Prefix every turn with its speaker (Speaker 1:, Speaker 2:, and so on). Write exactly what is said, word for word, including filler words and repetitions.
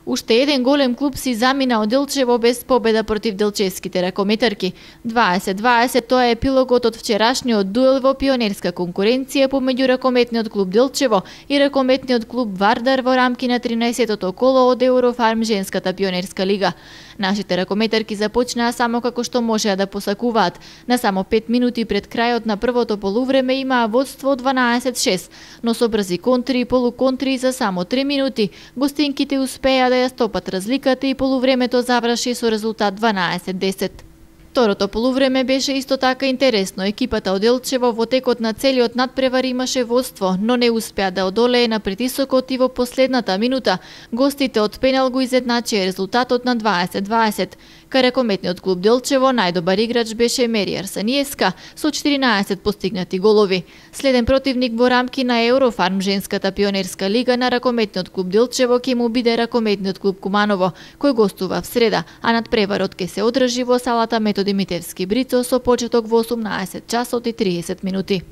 Speaker 1: Уште еден голем клуб си замина од Делчево без победа против делчевските ракометарки. дваесет дваесет тоа е епилогот од вчерашниот дуел во пионерска конкуренција помеѓу ракометниот клуб Делчево и ракометниот клуб Вардар во рамки на тринаесеттото коло од Еврофарм женската пионерска лига. Нашите ракометарки започнаа само како што можеа да посакуваат. На само пет минути пред крајот на првото полувреме имаа водство дванаесет шест, но со брзи контри и полуконтри за само три минути гостинките успеа да ја стопат разликата и полувремето заврши со резултат дванаесет десет. Второто полувреме беше исто така интересно. Екипата од Делчево во текот на целиот надпревар имаше водство, но не успеа да одолее на притисокот и во последната минута гостите од пенал го изедначија резултатот на дваесет дваесет. Кај ракометниот клуб Делчево најдобар играч беше Мери Арсаниевска со четиринаесет постигнати голови. Следен противник во рамки на Еврофарм женската пионерска лига на ракометниот клуб Делчево ќе му биде ракометниот клуб Куманово, кој гостува в среда, а надпреварот ќе се одржи во салата Методи Митевски Брицо со почеток во осумнаесет часот и триесет минути.